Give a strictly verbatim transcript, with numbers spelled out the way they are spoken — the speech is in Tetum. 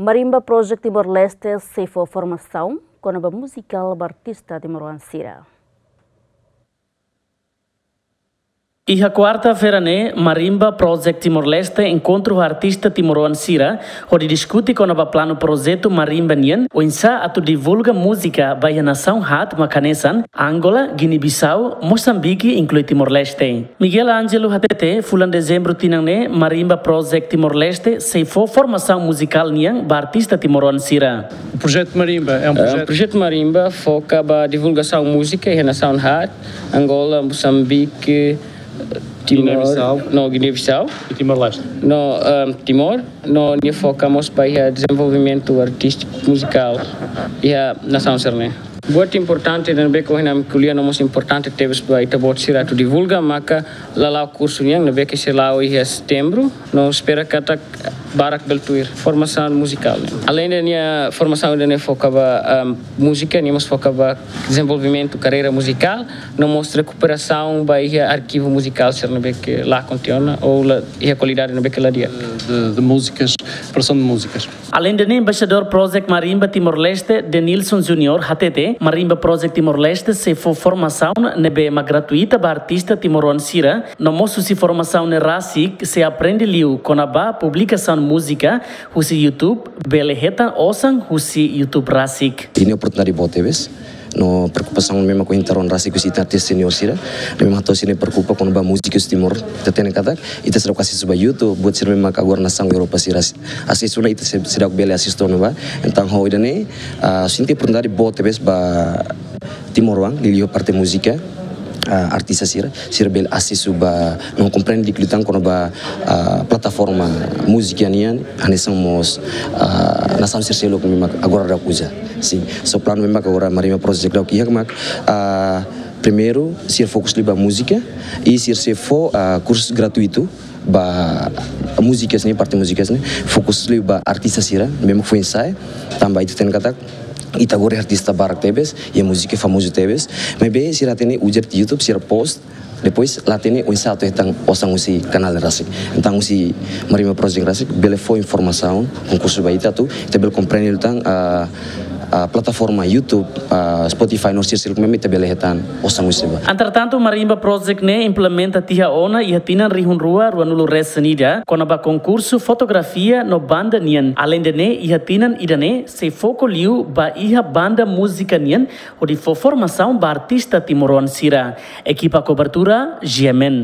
Marimba Project Timor-Leste sei fó formasaun kona-ba muzikál ba artista timoroan sira. Iha kuarta-feira ne'e, Marimba Project Timor-Leste enkontru ho artista timoroan sira, hodi diskute kona-ba planu projetu Marimba nian, oinsá atu divulga múzika ba iha nasaun haat mak hanesan, Angola, Guiné-Bissau, Mosambike, inklui Timor-Leste. Miguel Ângelo hatete, fulan Dezembru tinan ne'e, Marimba Project Timor-Leste sei fó formasaun muzikál nian ba artista timoroan sira. O projeto Marimba é um É, projeto projetu Marimba foka ba divulgasaun múzika iha nasaun haat, Angola, Mosambike, Timor, Guiné-Bissau. No Guiné-Bissau, E Timor-Leste. No, ehm, Timor, no nia foka mós ba iha dezenvolvimentu artístiku muzikál iha nasaun sira-ne'e. Buat importante ne'ebé ke ohin ami ko'alia no mós importante tebes ba ita-boot sira atu divulga maka lala'ok kursu nian ne'ebé ke sei la'o iha Setembru, no espera katak barak bele tuir formasaun muzikál ne'e. Aleinde nia formasaun ida-ne'e foka ba, ehm, múzika, nia mós foka ba dezenvolvimentu karreira muzikál, no mós rekuperasaun ba iha arkivu muzikál sira ne'ebé ke la kontém ona ou la iha kualidade ne'ebé ke la di'ak. De, de músicas, produção de músicas. Aleinde ne'e, Embaixadór Project Marimba Timor-Leste, Denilson Junior, hatete, Marimba Project Timor-Leste sei fó formasaun ne'ebé mak gratuita ba artista timoroan sira, no mós husi formasaun ne'e rasik sei aprende liu kona-ba publikasaun múzika husi YouTube, bele hetan osan husi YouTube rasik. Ida-ne'e oportunidade boot tebes. No preokupasaun ne'ebé mak ohin ita rona rasik husi ita artista senior sira. Ne'ebé mak hato'o sira-ne'e preokupa kona-ba múzika husi Timor. Ita hatene katak, ita seidauk asesu ba YouTube, buat sira ne'ebé mak agora nasaun Europa sira asesu ona, ita sei-, seidauk bele asesu ona ba. Entaun, ho ida-ne'e, ah, sente oportunidade boot tebes ba timoroan, liuliu parte múzika, ah, artista sira, sira bele asesu ba, no komprende di'ak liután kona-ba, ah, plataforma múzika nian, hanesan mós, ah, nasaun sira seluk ne'ebé mak agora daudaun uza. Sin, so planu ne'ebé mak agora Marimba Project daudaun iha mak, ah, primeiru, sira fokus liu ba múzika, i sira sei fó, ah, kursu gratuitu ba múzikas ne'e, parte múzikas ne'e, fokus liu ba artista sira, ne'ebé mak foin sai, tanba ita hatene katak, ita agora artista barak tebes, i múzika famozu tebes, maibé sira hatene uza YouTube, sira post, depois la hatene oinsá atu hetan osan husi kanál rasik. Entaun husi Marimba Project rasik, bele fó informasaun, konkursu ba ita atu, ita bele komprende liután, ah, ah, plataforma YouTube, ah, Spotify, no sira seluk ne'ebé mak ita bele hetan osan husi ba. Entretantu, Marimba Project ne'e implementa tiha ona iha tinan rihun rua ruanulu resin ida, kona-ba konkursu fotografia no banda nian. Aleinde ne'e, iha tinan ida-ne'e, sei foka liu ba iha banda múzika nian, hodi fó formasaun ba artista timoroan sira. Ekipa kobertura, G M N.